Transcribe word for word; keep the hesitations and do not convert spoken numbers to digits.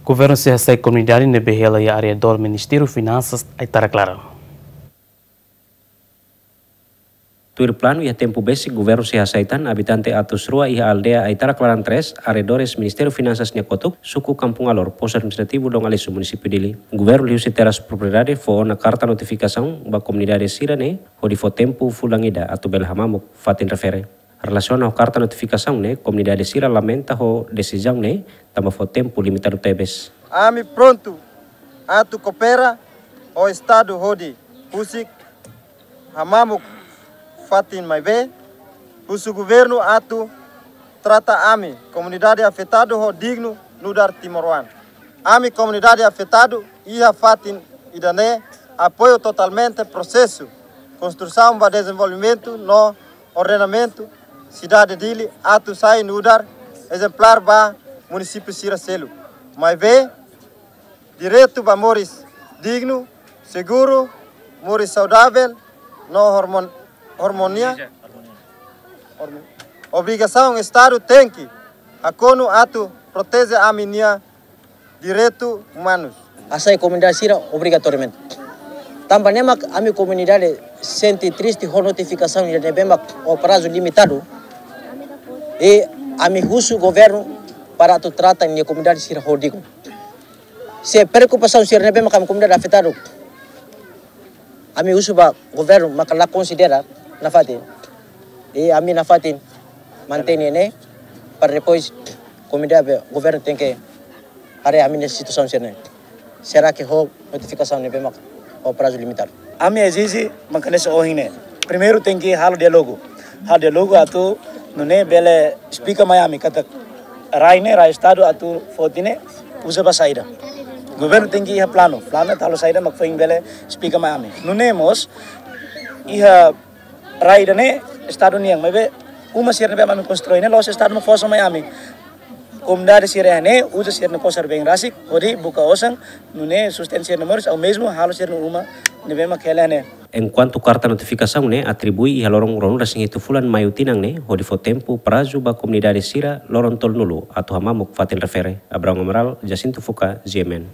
Governu sei hasai komunidade ne'ebé hela iha arredór Ministériu Finansas Aitarak Laran. Tuir planu, iha tempu besik governu sei hasai tan abitante atus rua iha aldeia Aitarak Laran três, arredores Ministériu Finansas nia kotuk, suku Kampung Alor, postu administrativu Dom Aleixo, munisípiu Dili. Governu liuhusi terras propriedade fó ona karta notifikasaun ba komunidade sira-ne'e, hodi fó tempu fulan ida atu bele hamamuk fatin refere. Relasiona ho karta notifikasaun ne'e, komunidade sira lamenta ho desizaun ne'e, tanba fó tempu limitadu tebes. Ami prontu atu koopera ho Estadu hodi husik hamamuk fatin, maibé husu governu atu trata ami, komunidade afetadu, ho dignu nu'udar timoroan. Ami, komunidade afetadu iha fatin ida-ne'e, apoiu totalmente prosesu konstrusaun ba dezenvolvimentu no ordenamentu sidade Dili atu sai nu'udar ezemplár ba munisípiu sira seluk. Maibé direitu ba moris dignu, seguru, moris saudavel no hormon-, hormonia. Hormo-, obrigasaun Estadu tenke hakonu atu proteje ami-nia direitu umanus. Hasai komunidade sira obrigatoriamente. Tanba ne'e mak ami komunidade sente triste ho notifikasaun ida ne'ebé mak ho prazu limitadu. I ami husu governu para atu trata nia komunidade sira ho dignu. Se preokupasaun sira ne'ebé mak ami komunidade afetadu, ami husu ba governu maka la konsidera nafatin. I ami nafatin mantein ne'e para depois komunidade, governu tenke haree ami-nia situasaun sira-ne'e. Será que ho notifikasaun ne'ebé mak ho prazu limitadu? Ami ezije mak hanesan ohin ne'e. Primeiru tenke halo diálogu. Halo diálogu atu nune'e bele esplika mai ami katak rai ne'e, rai Estadu atu foti ne'e uza ba saida. Governu tenke iha planu, planu atu halo saida mak foin bele esplika mai ami. Nune'e mós iha rai ida-ne'e Estadu nian, maibé uma sira ne'ebé ami konstrui ne'e la'ós Estadu mak fó hasoru mai ami. Komunidade sira ne'e uza sira-nia kosar been rasik hodi buka osan, nune'e sustenta sira-nia moris, ou mesmo halo sira-nia uma ne'ebé mak hela ne'e. Enkuantu karta notifikasaun ne'e atribui iha loron ruanulu-resin-hitu fulan Maiu tinan ne'e, hodi fó tempu prazu ba komunidade sira loron tolunulu atu hamamuk fatin refere. Abraão Amaral, Jacinto Fuca, G M N.